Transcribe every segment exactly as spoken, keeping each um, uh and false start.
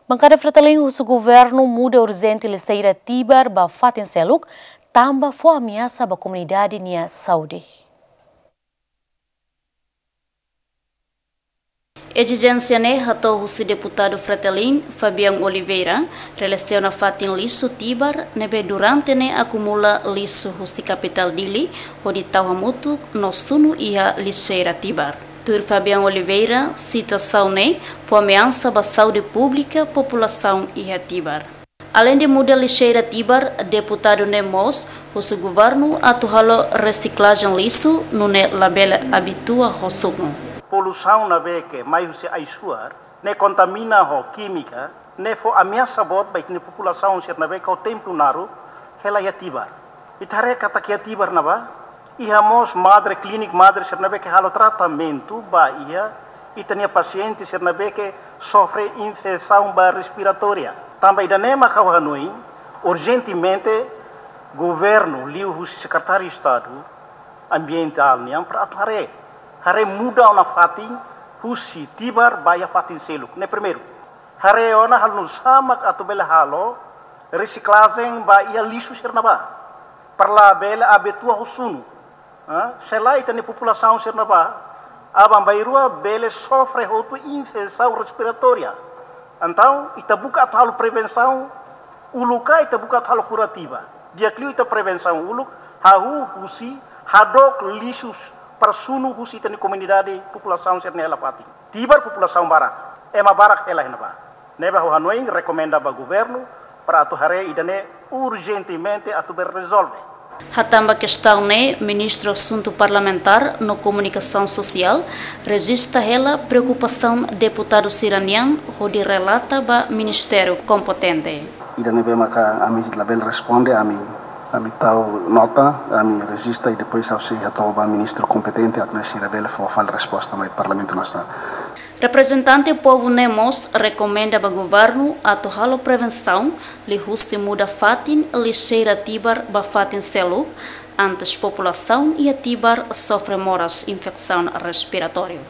Bankada Fretilin husu governu muda urjente lixeira Tibar ba fatin seluk, tanba fó ameasa ba komunidade nia saúde. Ezijénsia ne'e hato'o husi deputadu Fretilin, Fabian Oliveira, relasiona fatin lixu Tibar, ne'ebé durante ne'e akumula lixu husi kapitál Dili, hodi tau hamutuk no sunu iha lixeira Tibar. Tuir Fabian Oliveira, situasaun ne'e fó ameasa ba saúde públika populasaun iha Tibar. Aleinde muda lixeira Tibar, deputadu ne'e mós husu governu atu halo resiklajen lixu, nune'e labele abitua ho sunu. Poluisaun ne'ebé ke mai husi ai-suar, ne'e kontamina ho kímika, ne'e fó ameasa boot ba ita-nia populasaun sira ne'ebé ke ho tempu naruk hela iha Tibar. Ita haree katak iha Tibar ne'ebá iha mós madre, klinik madre sira ne'ebé ke halo tratamentu ba iha ita-nia pasiente sira ne'ebé ke sofre infesaun ba respiratória. Tanba ida-ne'e mak ha'u hanoin urjentemente governu liuhusi Sekretáriu Estadu Ambientál nian para atu haree, haree muda ona fatin husi Tibar ba iha fatin seluk. Ne'e primeiru. Haree ona halo nu'usá mak atu bele halo resiklajen ba iha lixu sira ne'ebá, para labele abitua ho sunu. Ah, selae ita-nia populasaun sira ne'ebá, aban-bainrua bele sofre hotu infesaun respiratória. Entaun, ita buka atu halo prevensaun uluk ka ita buka atu halo kurativa? Di'ak liu ita prevensaun uluk, hahú husi hadook lixu para sunu husi ita-nia komunidade, populasaun sira-ne'e hela fatin. Tibar populasaun barak, ema barak hela iha ne'ebá. Ne'ebé ha'u hanoin rekomenda ba governu para atu haree ida-ne'e urjentemente atu bele rezolve. Hatán ba kestaun ne'e, Ministru Asuntu Parlamentár no Komunikasaun Sosiál rejista hela preokupasaun deputadu sira-nian hodi relata ba ministériu kompetente. Ida ne'ebé maka ami labele responde, ami, ami tau nota, ami rejista i depois ha'u sei hato'o ba ministru kompetente atu nune'e sira bele fó fali resposta mai Parlamentu Nasionál. Reprezentante povu ne'e mós rekomenda ba governu atu halo prevensaun liuhusi muda fatin lixeira Tibar ba fatin seluk, antes populasaun iha Tibar sofre moras infesaun respiratóriu.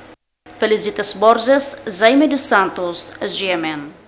Felicitas Borges, Jaime dos Santos, G M N.